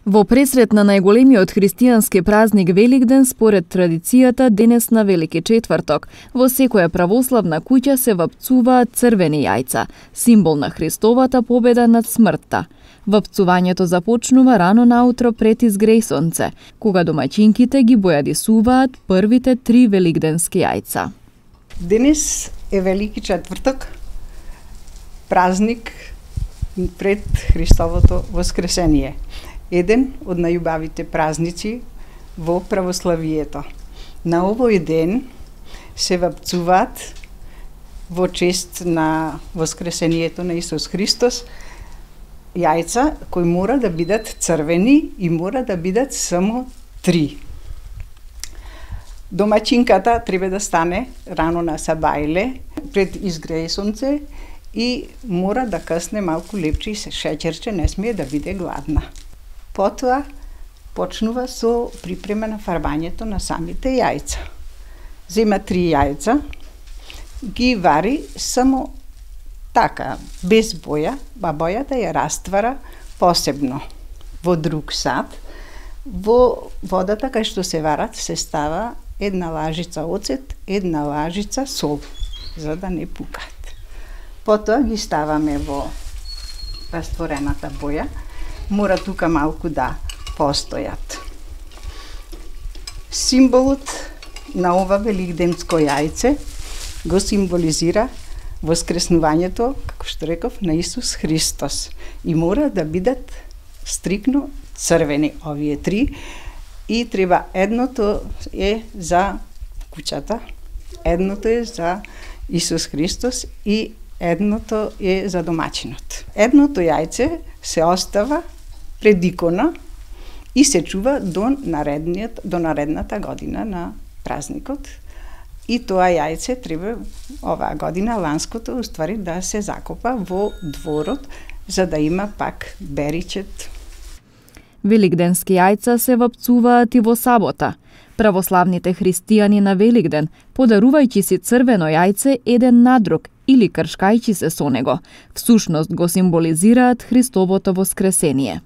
Во пресрет на најголемиот христијански празник Великден, според традицијата, денес на Велики четврток, во секоја православна куќа се вапцуваат црвени јајца, символ на Христовата победа над смртта. Вапцувањето започнува рано наутро пред изгрејсонце, кога домаќинките ги бојадисуваат првите 3 великденски јајца. Денес е Велики четврток, празник пред Христовото воскресение. Еден од најубавите празници во православието. На овој ден се вапцуваат во чест на воскресението на Исус Христос јајца кои мора да бидат црвени и мора да бидат само 3. Домаќинката треба да стане рано на сабајле пред изгрејсонце и мора да касне малку лепче и шеќерче, не смее да биде гладна. Потоа почнува со припрема на фарбањето на самите јајца. Зема 3 јајца, ги вари само така, без боја, а бојата ја раствара посебно во друг сад. Во водата кај што се варат се става 1 лажица оцет, 1 лажица сол, за да не пукат. Потоа ги ставаме во растворената боја. Мора тука малку да постојат. Символот на ова великденско јајце го символизира воскреснувањето, како што реков, на Исус Христос. И мора да бидат стрикно црвени овие 3 и треба едното е за куќата, едното е за Исус Христос и едното е за домаќинот. Едното јајце се остава пред икона и се чува до наредната година на празникот. И тоа јајце треба оваа година, ланското, уствари да се закопа во дворот, за да има пак беричет. Великденски јајца се вапцуваат и во сабота. Православните христијани на Великден, подарувајќи си црвено јајце еден на друг или кршкајќи се со него, всушност го символизираат Христовото воскресение.